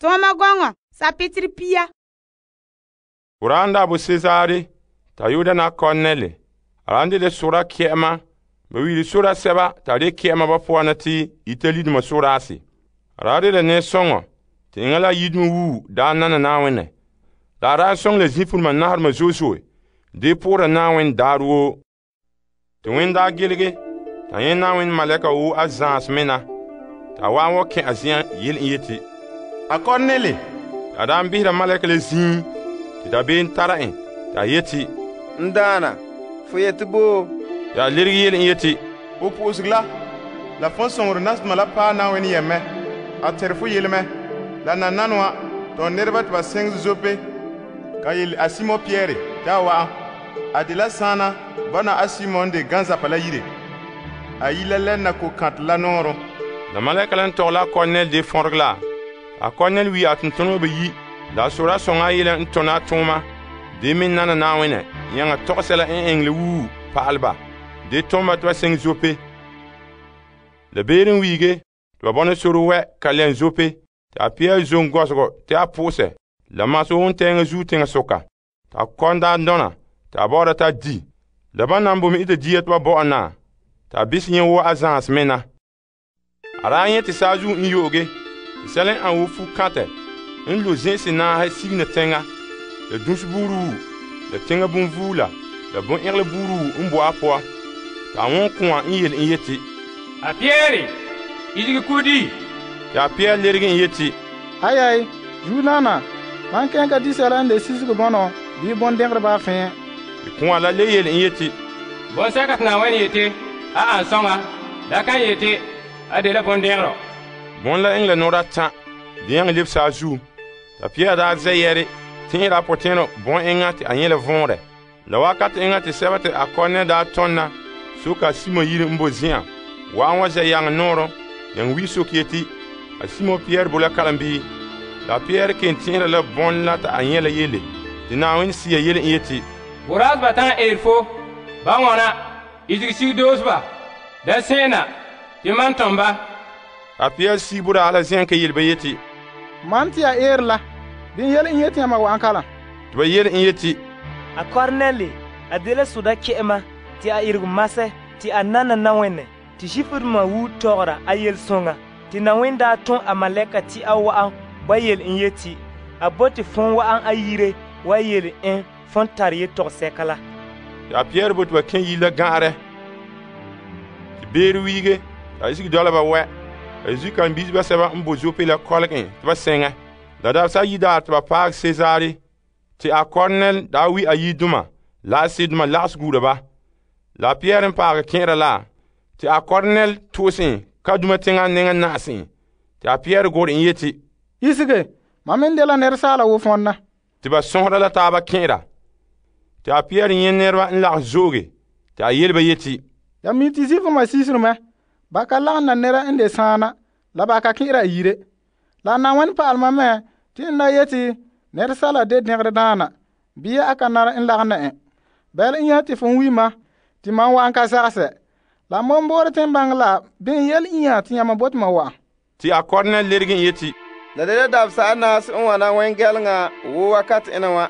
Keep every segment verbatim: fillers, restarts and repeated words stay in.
Tɔɔma gɔŋɔ sapitiri pia. Boraa n daa bo Cesare ta yu'uda na Cornel. A de sora kɛ'ɛma ba wiili sora sɛba ta de kɛ'ɛma ba poan na te Italidoma soraase. A de la ne sɔŋɔ te eŋa la yidoma wuu daa nana Naawinɛ. La a daa sɔŋ la zinfuluma naharema zo'e zo'e de poora Naawinɛ daarɛ woo. Te wẽn daa gelege ta nyɛ Naawinɛ malɛka woo a zãas mena ta wa'an wa kɛn a zen'an yele en yeti, A Cornel. A daa behera malɛka la zĩig te dabeem tara en ta yeti, N daana, fo yeti bo? Ya lerege yele en yeti, Ho po'oseg la, la fon soŋore nasdoma la paɛ Naawinɛ yɛmɛ. A tɛnre fo yelemɛ. La nananawa, tɔ nɛreba te ba sɛŋ Zope ka yele a Simon Pierre te a wa'an. A de la saana bɔna a Simon de ganzapa la yire. A yi la lɛnna ko kãtɛ la nɔɔrɔ. La malɛka la n tɔgɛ la Cornel de fɔrege la. A Cornel wi a tontoneba bayi. La a sora sõŋa a yele n tona a tooma. De me nana Naawinɛ yãŋa tɔgɔsɛla n eŋɛ le wuu pa'alɛ ba. De tõmba te ba sɛŋ Zope. La beere n wiige te ba bɔna soro wɛ ka lɛn Zope. Te a pɛɛ zom gɔsegɔ te a pʋʋsɛ. La maso wontɛɛŋa zuo teŋa soka. Te a kɔn daa dɔna te a bɔ'ɔra ta di. La ban nan bome ita dia te ba bɔ'ɔ na. Te a bise yẽ wo a zãas mena. A daa nyɛ te saazuo n yo'oge. Te sɛla n an wo fu-kãtɛ n lo zẽ'ese naahe sigina tɛŋa. La dunsi buuru la teŋa bonvuula la bon-ɛgelɛ buuru n bo a poa. Te a wõn kʋ̃a n yele n yeti, A Pierre, idigi kudi. Te a Pierre lerege n yeti, Ayai, Juliana, man kẽn ka di sɛla n de sisege bɔnɔ bii bõn-dɛngerɛ baa fẽ. Te kʋ̃a la le yele n yeti, Bõn-sɛka te Naawɛn yete a an sɔŋa la kan yete a de la bõn-dɛngerɔ. Bõn la eŋɛ la nɔɔra tã de yãng leb saazuo. Ta Pierre daa zɛ yɛre tẽera a potẽnɔ bõn-eŋa te a nyɛ la võorɛ. La wakate eŋa te sɛba te a Cornel daa tɔnna soka Simon yire n bo zĩ'an wa'an wa zɛ yaŋɛ nɔɔrɔ yãng wi sok yeti a Simon Pierre bo la kalambii. La Pierre ken tẽera la bõn la ta a nyɛ la yele te Naawinɛ sia yele n yeti, Boraas ba tãn eer fo, ba wãna, idigi sig doosba, da sẽena, tɩ man tõm ba. A Pierre sig boraa la zẽn ka yele ba yeti, Man tɩ ya eer la, bɩ yel n yetɩ yãmba wa'an kalam. tɩ ba yele n yeti, A Cornel, a de la soda kɛ'ɛma tɩ a ireg masɛ tɩ a nana Naawinɛ tɩ Zifudoma wu tɔgɔra a yel-sõŋa tɩ Naawinɛ daa tõ a malɛka tɩ a wa'an ba yele n yeti a bote fõn wa'an a yire wa yele en fõn tare yetɔgɔsɛka la. tɩ a Pierre bo tɩ ba kẽ yir la gã'arɛ. Tɩ beere wiige t'a isigi dɔla ba wɛ. A zu-kãn-bisba sɛba n bo Zope la kɔlgẽ tɩ ba sɛŋɛ. La dabsa yidaar tɩ ba paag Sezare tɩ a Cornel daa wi a yidoma la a sedoma lagas guura ba. La a Pierre n paagɛ kẽera la tɩ a Cornel tʋʋsẽ kaduma teŋa nengã na'asẽ. Tɩ a Pierre gʋʋr n yeti, Isige, mam me n de la nɛresaala wo fõnda. tɩ ba sõsda la taaba kẽera. Tɩ a Pierre yẽ nɛreba n lagas zooge tɩ a yel ba yeti, Ya mi tɩ Zifoma sisremɛ, ba ka lagem na nɛra n de sãana, la ba ka kẽ'era a yire. La Naawãn pa'alema me tɩ n da yeti nɛresaala de dẽgre daana, bɩ a ka nara n lagem na ẽ. Bɛl n yã tɩ fo n wima tɩ mam wa'an ka zagsɛ. La mam boore tɩ n bãng la bɩ n yɛl n yã tɩ yãmba bot ma wa'an. tɩ a Cornel lerge n yeti, La de la dabsa a naas n wana wẽn-gɛlŋa wo wakat ẽna wã.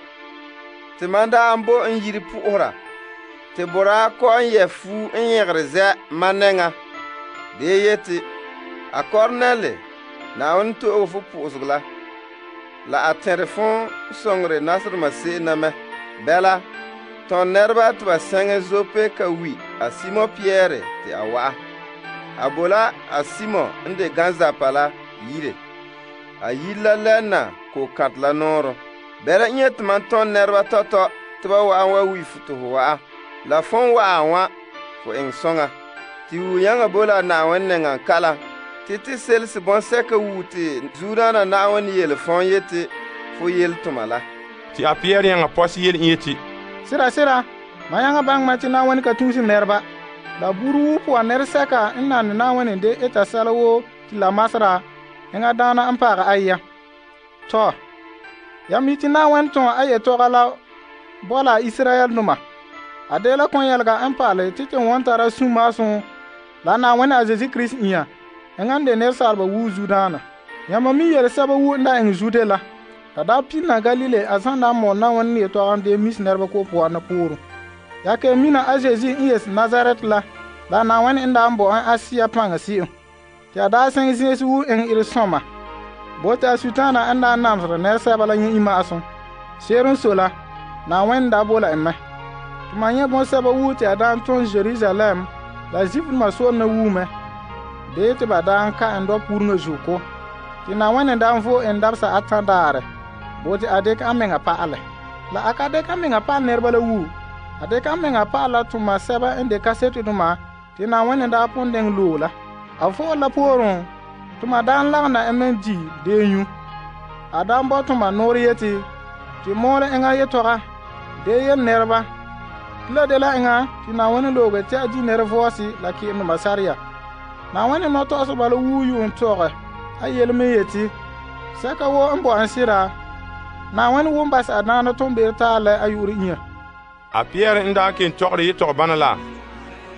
Tɩ man daa n bo n yiri pʋ'ʋsra. Tɩ boraa kɔ n yɛ fu n yẽgre zɛ man nɛŋa. De yeti, a Cornel, Naawãn to'oge fo pʋ'ʋsg la. La a tẽr fõ sõngre nasdoma se'em na mɛ. Bɛla, tõnd nɛreba tɩ ba sɛŋɛ Zope ka wi a Simon Pierre tɩ a wa'a. A bo la a Simon n de ganzapa la yire. A yir la lɛnna ko-kãtɛ la nɔɔrɔ. Bɛla n yeti man tõnd nɛreba tɔtɔ tɩ ba wa'an wa wi fu tɩ fo wa'a. La fõn wa'a wã fo eng sõŋa. Tɩ wu yãngã bo la Naawãn nengã kalam. Tɩ tɩ selse bõn-sɛka wu tɩ zuudaana Naawãn yele fõn yeti fo yel tʋma la. tɩ a Pierre yãngã pɔs yel n yeti, Sɩda sɩda, mam yãngã bãngma tɩ Naawãn ka tũusi nɛreba. La buru wu pʋga nɛresɛka n nane Naawãn de eta sɛla woo tɩ la masra yẽngã daana n paagɛ ayya. Tɔ, ya mi tɩ Naawãn tõ a yetɔga la bɔla Israyɛl-doma. A de la kõn-yɛlga n paale tɩ tɩ wõn tara sũ-maasõ la Naawãn a Zezi Kirist ĩyã yẽngã n de nɛresaalba wuu zudaana. Yãmba mi yele sɛba wu n daa eŋɛ Zude la. Ta daa pilna Galile a zan daa mɔɔl Na'ayenɛ yetɔgom dee mis nɛreba ko poan na pooren. Ya kelum mina a Zeezi n yes Nazaret la, la Na'ayenɛ n daa bo en Asia paŋa se'em. Te a daa sɛŋ zĩisi wu eŋɛ iresɔma. Bo te a Sutaana n daa namesera nɛresɛba la nyɛ ima'asum. Se'ere n sɔe la, Na'ayenɛ daa bo la en mɛ. Tuma nyɛ bɔŋsɛba wu te a daa tom Jerusalem la Zifrima sore na wu mɛ. Dee te ba daa ka en dɔpureŋa zuko. Te Na'ayenɛ daa vo en dabesa atan daarɛ. Bo te a dekɛ a meŋa pa'alɛ. La a ka dekɛ a meŋa pa'alɛ nɛreba la wu. A dekɛ a meŋa pa'alɛ la tuma sɛba n de kasetedoma te Na'ayenɛ daa pon deŋɛ loe la. A vo'ole la pooren, tuma daan lagena en mɛ di deenyu. A daan bɔ tuma noore yeti, te mɔɔrɛ eŋa yetɔga, dee yele nɛreba. Tila de la eŋa te Na'ayenɛ looge te a di nɛrevɔɔsi la ke'emdoma sariya. Na'ayenɛ nɔtɔgɔseba la wu yuun tɔgɛ, a yele me yeti, sɛka woo n bo en sira, Na'ayenɛ won bas a daana ton beere taa lɛ a yu'urɛ inya. A Pierre n daa ken tɔgɔre yetɔgɔ bana la,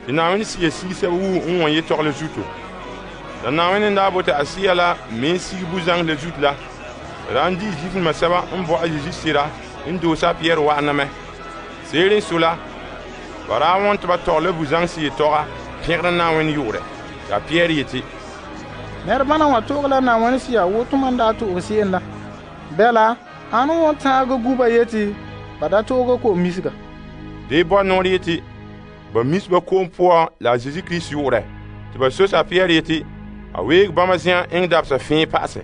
te Na'ayenɛ siya sige sɛba wu n wɔn yetɔgɔ la zuto. La Na'ayenɛ daa bote a siya la me sige buzaŋ la zuto la. Ran di Zifrima sɛba n bo a Yezu sera n doosa a Pierre wa'ana mɛ. Seere n so la, ba daa wɔn te ba tɔgɛ la buzaŋ siya tɔga pɛgere Na'ayenɛ yu'urɛ. Ya Pierre yeti, nɛrebana wa to'ge la Na'ayenɛ siya wo tuma n daa to'ge se'em la. Bɛla, ane wɔn tãage guba yeti ba da to'ge ko'om misega. Dee bɔ noore yeti, ba mis ba ko'om poan la Zeezi Kirist yu'urɛ. Te ba sosa a Pierre yeti, a weege bãmba zi'an eŋɛ dabesa fẽe pa'asɛ.